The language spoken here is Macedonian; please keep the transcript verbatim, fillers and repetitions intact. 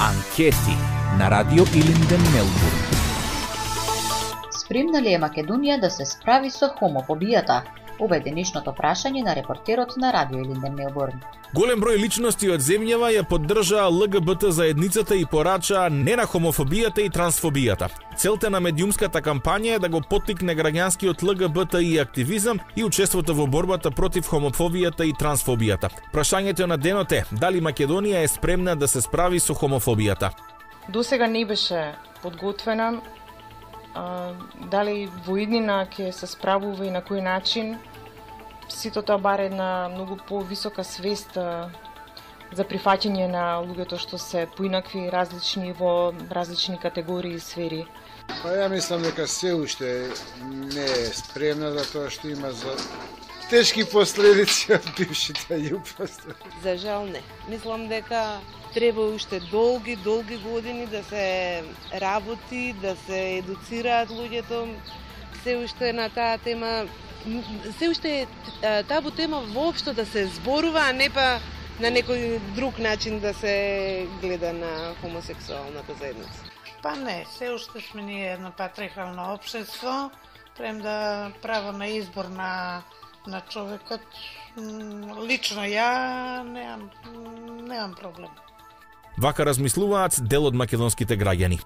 Анкети на Радио Илинден, Мелбурн. Спремна ли е Македонија да се справи со хомофобијата? Ова е денешното прашање на репортерот на Радио Илинден, Мелбурн. Голем број личности од земјава ја поддржаа Л Г Б Т заедницата и порачаа не на хомофобијата и трансфобијата. Целта на медиумската кампања е да го поттикне граѓанскиот Л Г Б Т И активизам и учеството во борбата против хомофобијата и трансфобијата. Прашањето на денот е: дали Македонија е спремна да се справи со хомофобијата? Досега не беше подготвена. А, дали во иднина ќе се справува и на кој начин? Сето тоа баре една многу повисока свест а, за прифаќање на луѓето што се поинакви, различни во различни категории и сфери. Па ја мислам дека се уште не е спремна за тоа што има за тешки последици од бившите јупности. За жал не. Мислам дека треба уште долги, долги години да се работи, да се едуцираат луѓето. Се уште на таа тема, се уште е табу тема воопшто да се зборува, а не па на некој друг начин да се гледа на хомосексуалната заедница. Па не, се уште сме ние едно патриархално општество, прем да право на избор на на човекот. Лично ја немам немам проблем. Вака размислуваат дел од македонските граѓани.